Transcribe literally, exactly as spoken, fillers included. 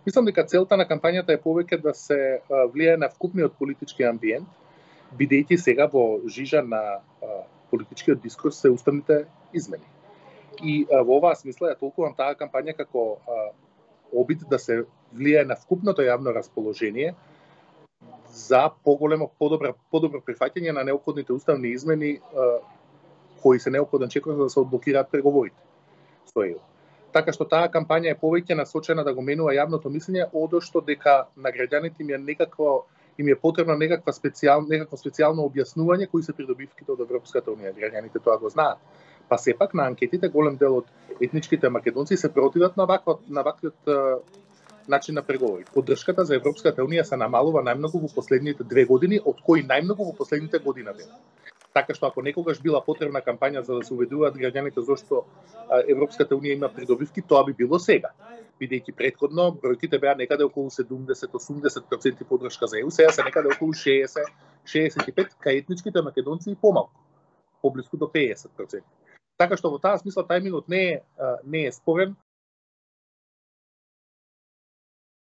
Мислам дека целта на кампањата е повеќе да се влијае на вкупниот политички амбиент, бидејќи сега во жижа на политичкиот дискурс се уставните измени. И во оваа смисла ја толкувам таа кампања како обид да се влијае на вкупното јавно расположение за поголемо, подобро, подобро прифаќање на неопходните уставни измени кои се неопходен чекор за да се одблокираат преговорите со ЕУ. Така што таа кампања е повеќе насочена да го менува јавното мислење, одошто дека на граѓаните им е некакво им е потребно некаква специјал, некакво специјално објаснување кои се придобивките од Европската унија. Граѓаните тоа го знаат. Па сепак на анкетите голем дел од етничките македонци се противат на ваквот на ваквиот начин на преговори. Поддршката за Европската унија се намалува најмногу во последните две години, од кои најмногу во последните година дена. Така што ако некогаш била потребна кампања за да се убедуваат граѓаните зашто Европската унија има придобивки, тоа би било сега. Бидејќи претходно бројките беа некаде околу седумдесет до осумдесет проценти поддршка за ЕУ, сега се некаде околу шеесет до шеесет и пет, кај етничките македонци и помалку, поблиску до пеесет проценти. Така што во таа смисла тајмингот не е не е спорен,